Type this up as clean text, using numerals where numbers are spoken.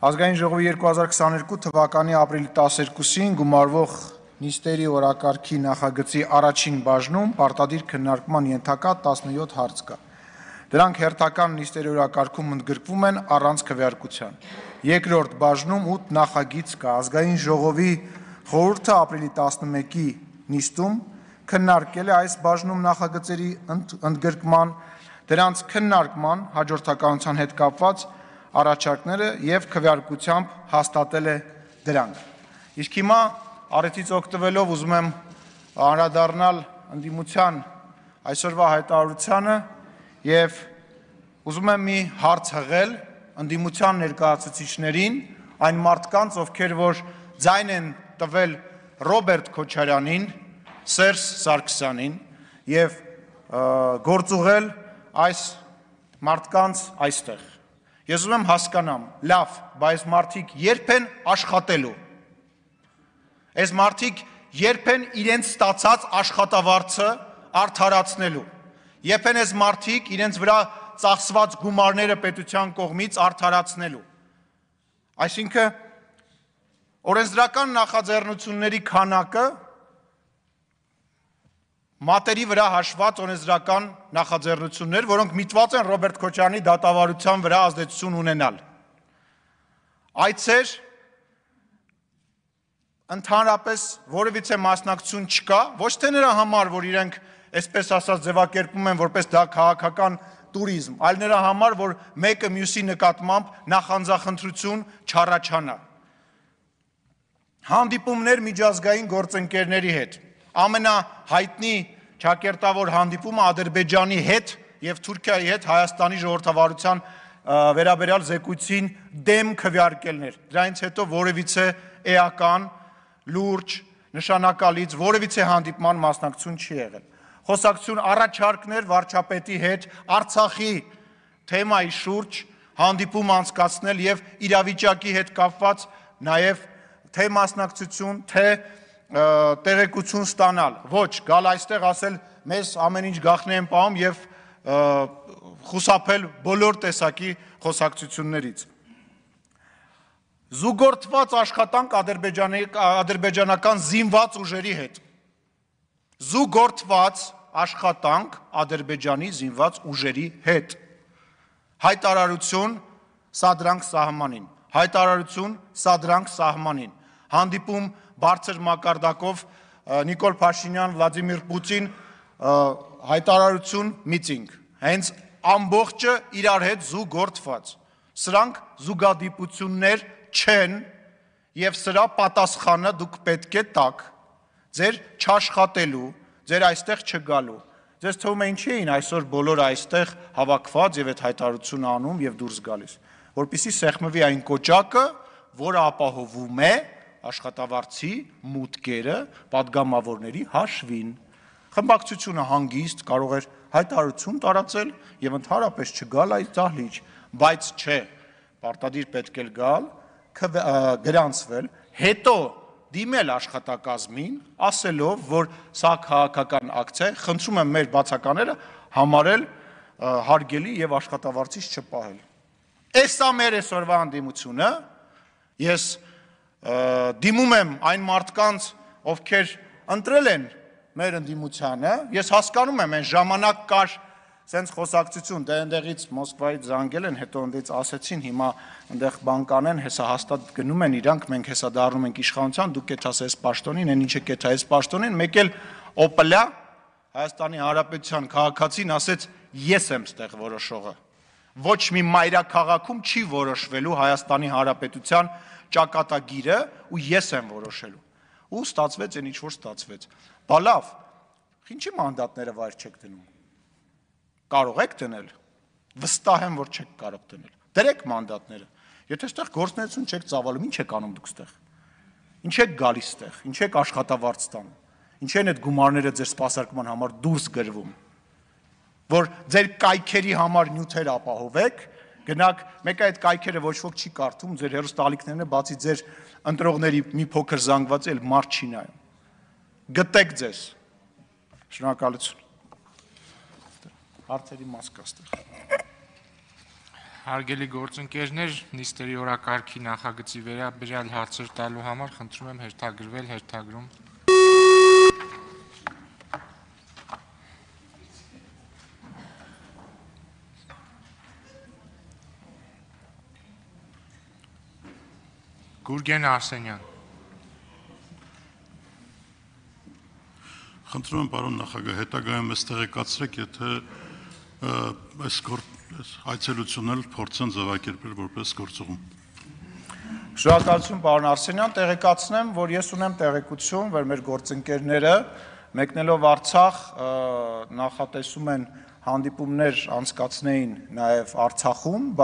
Ազգային ժողովի 2022 թվականի ապրիլի 12-ին գումարվող նիստերի օրակարգի նախագծի առաջին բաժնում պարտադիր քննարկման ենթակա 17 հարց կա։ Դրանք հերթական նիստերի օրակարգում ընդգրկվում են առանց քվեարկության։ Երկրորդ բաժնում 8 նախագիծ կա։ Ազգային ժողովի խորհուրդը ապրիլի 11-ի նիստում քննարկել է այս բաժնում նախագծերի ընդգրկման, դրանց քննարկման հաջորդականության հետ կապված առաջարկները եւ քվեարկությամբ հաստատել է դրանք։ Իսկ հիմա առիթից օգտվելով ուզում եմ անդրադառնալ ընդդիմության այսօրվա հայտարարությանը եւ ուզում եմ մի հարց հղել ընդդիմության ներկայացուցիչներին, այն մարդկանց, ովքեր որ ձայն են տվել Ռոբերտ Քոչարյանին, Սերժ Սարգսյանին եւ գործուղել այս մարդկանց այստեղ։ Ես ուզում եմ հասկանամ, լավ, բայց մարդիկ երբ են աշխատելու։ Այս մարդիկ երբ են իրենց ստացած աշխատավարձը արդարացնելու։ Երբ են այս մարդիկ իրենց վրա ծախսված գումարները պետության կողմից արդարացնելու։ Այսինքն օրենսդրական նախաձեռնությունների քանակը մատերի վրա հաշված օրենսդրական նախաձեռնություններ, որոնք միտված են Ռոբերտ Քոչարյանի դատավարության վրա ազդեցություն ունենալ։ Այցեր ընդհանրապես որևիցե մասնակցություն չկա, ոչ թե նրա համար, որ իրենք այսպես ասած ձևակերպում են որպես դա քաղաքական տուրիզմ, այլ նրա համար, որ մեկը մյուսի նկատմամբ նախանձախնդրություն չառաջանա։ Հանդիպումներ միջազգային գործընկերների հետ։ Ամենահայտնի ճակերտավոր հանդիպումը Ադրբեջանի հետ եւ Թուրքիայի հետ Հայաստանի ժողովրդավարության վերաբերյալ զեկույցին դեմ քվեարկելն էր։ Դրանից հետո որևիցե էական, լուրջ, նշանակալից որևիցե հանդիպման մասնակցություն չի եղել։ Խոսակցություն առաջարկներ վարչապետի հետ Արցախի թեմայի շուրջ հանդիպում անցկացնել եւ իրավիճակի հետ կապված նաեւ թե մասնակցություն, թե տեղեկություն ստանալ, ոչ, գալ այստեղ ասել մեզ ամեն ինչ գաղտնի են պահում եւ խուսափել բոլոր տեսակի խոսակցություններից։ Զուգորդված աշխատանք ադրբեջանական զինված ուժերի հետ։ Զուգորդված աշխատանք Ադրբեջանի զինված ուժերի հետ։ Հայտարարություն սադրանք սահմանին։ Հայտարարություն սադրանք սահմանին։ Հանդիպում բարձր մակարդակով Նիկոլ Փաշինյան, Վլադիմիր Պուտին, հայտարարություն միտինգ, հենց ամբողջը իրար հետ զուգորդված։ Սրանք զուգադիպություններ չեն եւ սրա պատասխանը դուք պետք է տաք ձեր չաշխատելու, ձեր այստեղ չգալու։ Ձեզ թվում է ինչի էին այսօր բոլոր այստեղ հավաքված եւ այդ հայտարարությունը անում եւ դուրս գալիս, որպեսզի սեղմվի այն կոճակը, որը ապահովում է աշխատավարձի մուտքերը պատգամավորների հաշվին։ Խմբակցությունը հանգիստ կարող էր հայտարարություն տարածել եւ ընդհանրապես չգալ այս դահլիճ, բայց չէ, պարտադիր պետք է գալ, գրանցվել, հետո դիմել աշխատակազմին, ասելով, որ սա քաղաքական ակցիա է, խնդրում եմ մեր բացակաները համարել հարգելի եւ աշխատավարձից չպահել։ Էսա մեր այսօրվա անդիմությունը, ես դիմում եմ այն մարդկանց, ովքեր ընտրել են մեր ընդդիմությանը, ես հասկանում եմ, այն ժամանակ կար սենց խոսակցություն, դե այնտեղից Մոսկվայից զանգել են, հետո ընդից ասեցին, հիմա այնտեղ բան կանեն, հեսա հաստատ գնում են իրանք, մենք հեսա դառնում ենք իշխանության, դուք կեթաս այս պաշտոնին, այն ինչը կեթա այս պաշտոնին, մեկ էլ օպլա Հայաստանի Հանրապետության քաղաքացին ասեց, ես եմ ստեղ որոշողը։ Ոչ մի մայրաքաղաքում չի որոշվելու Հայաստանի Հանրապետության ճակատագիրը ու ես եմ որոշելու։ Ու ստացվեց այն ինչ որ ստացվեց։ Բա լավ, ինչի մանդատները վայր չեք դնում։ Կարող եք դնել։ Վստահ եմ, որ չեք կարող դնել։ Դրեք մանդատները։ Եթե այստեղ գործունեություն չեք ծավալում, ինչ եք անում դուք այստեղ։ Ինչ եք գալիս այստեղ, ինչ եք աշխատավարձ տանում։ Ինչ են այդ գումարները ձեր սպասարկման համար դուրս գրվում։ Որ ձեր կայքերի համար նյութեր ապահովեք, գնաք, մեկը այդ կայքերը ոչ ոք չի կարդում, ձեր հեռուստաալիքներն է, բացի ձեր ընտրողների մի փոքր զանգված էլ մարդ չի նայում։ Գտեք ձեզ։ Շնորհակալություն։ Հարցերի մաս կա այստեղ։ Հարգելի գործընկերներ, նիստերի օրակարգի նախագծի վերաբերյալ հարցեր տալու համար խնդրում եմ հերթագրվել հերթագրում։ Գուրգեն Արսենյան։ Խնդրում եմ, պարոն նախագահ, հետագայում ես տեղեկացրեք, եթե այս այցելությունն էլ փորձեն ձևակերպել որպես գործուղում։ Շնորհակալություն, պարոն Արսենյան, տեղեկացնեմ, որ ես ունեմ տեղեկություն, որ մեր գործընկերները մեկնելով Արցախ նախատեսում են հանդիպումներ անցկացնեին նաև Արցախում,